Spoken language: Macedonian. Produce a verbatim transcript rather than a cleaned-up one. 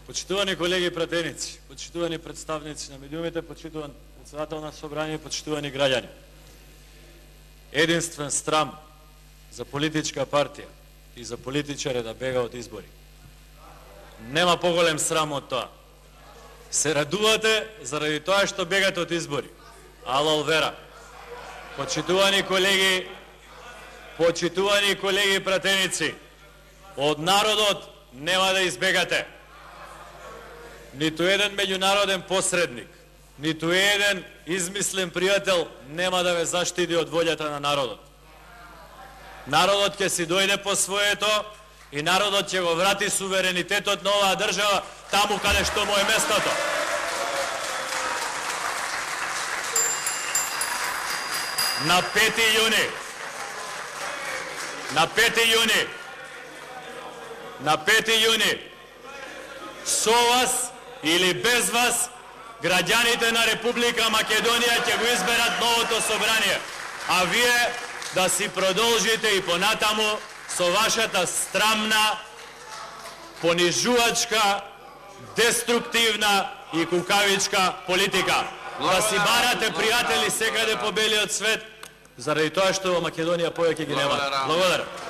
Почитувани колеги и пратеници, почитувани представници на медиумите, почитуван председател на собрание, почитувани граѓани. Единствен срам за политичка партија и за политичаре да бега од избори. Нема поголем срам од тоа. Се радувате заради тоа што бегате од избори. Алал вера. Почитувани колеги, почитувани колеги и пратеници, од народот нема да избегате. Ниту еден меѓународен посредник, ниту еден измислен пријател нема да ве заштити од волјата на народот. Народот ќе си дојде по своето и народот ќе го врати суверенитетот на оваа држава таму каде што му е местото. На пети јуни, на пети јуни, на пети јуни, со вас или без вас, граѓаните на Република Македонија ќе го изберат новото собрание, а вие да си продолжите и понатаму со вашата страмна, понижувачка, деструктивна и кукавичка политика. Да си барате пријатели секаде по белиот свет, заради тоа што во Македонија повеќе ги нема. Благодарам.